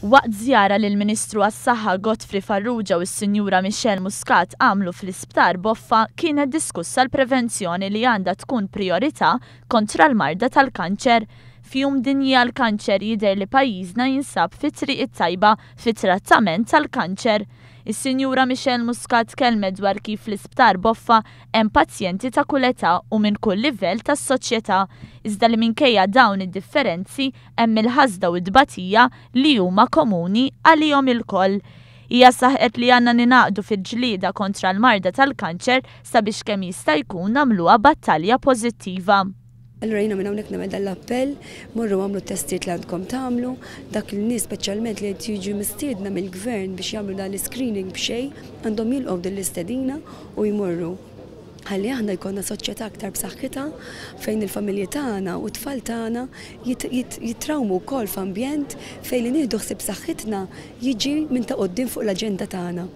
Waqt żjara li l-Ministru għas-Saħħa Godfrey Farrugia u s-Sinjura Michelle Muscat għamlu fl-Isptar Boffa kienet diskussa l-prevenzjoni li għandha tkun prijorità kontra l-marda tal-kanċer. F'Jum Dinji għall-Kanċer jidher li pajjiżna jinsab fit-triq it-tajba fit-trattament tal-kanċer. Is-Sinjura Michelle Muscat tkellmet dwar kif fl-Isptar Boffa hemm pazjenti ta' kull età u minn kull livell tas-soċjetà, iżda li minkejja dawn id-differenzi hemm il-ħasda u t-tbatija li huma komuni għalihom ilkoll. Hija saħqet li għandna ningħaqdu fil-ġlieda kontra l-marda tal-kanċer sabiex kemm jista' jkun nagħmluha battalja pożittiva. Allura jiena minn hawnhekk nagħmel dan l-appell, morru agħmlu t-testijiet li għandkom tagħmlu, dak il-nies speċjalment li qed jiġu mistiedna mill-gvern biex jagħmlu dan l-iscreening b'xejn, għandhom jilqgħu din l-istedina u jmorru. Ħalli aħna jkollna soċjetà aktar b'saħħitha fejn il-familji tagħna u t-tfal tagħna jitrawmu wkoll f'ambjent fejn li nieħdu ħsieb saħħitna jiġi minn ta' quddiem fuq l-aġenda tagħna.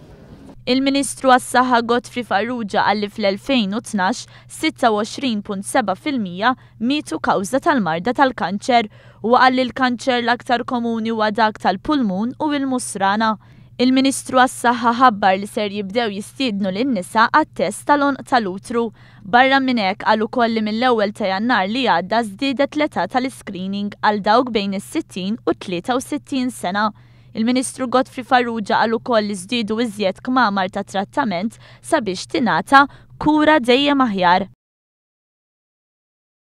Il-Ministru għas-Saħħa Godfrey Farrugia qal li fl-2012, 26.7% mietu kawża tal-marda tal-kanċer. Huwa qal li l-kanċer l-aktar komuni huwa dak tal-pulmun u l-musrana. Il-Ministru għas-Saħħa ħabbar li ser jibdew jistiednu lin-nisa għat-test tal-għonq tal-utru. Barra minn hekk qal ukoll li mill-ewwel ta' Jannar li għadda żdiedet l-età tal-iscreening għal dawk bejn is-60 u t-63 sena. Il-Ministru Godfrey Farrugia qal ukoll li żdiedu iżjed kmamar ta' trattament sabiex tingħata kura dejjem aħjar.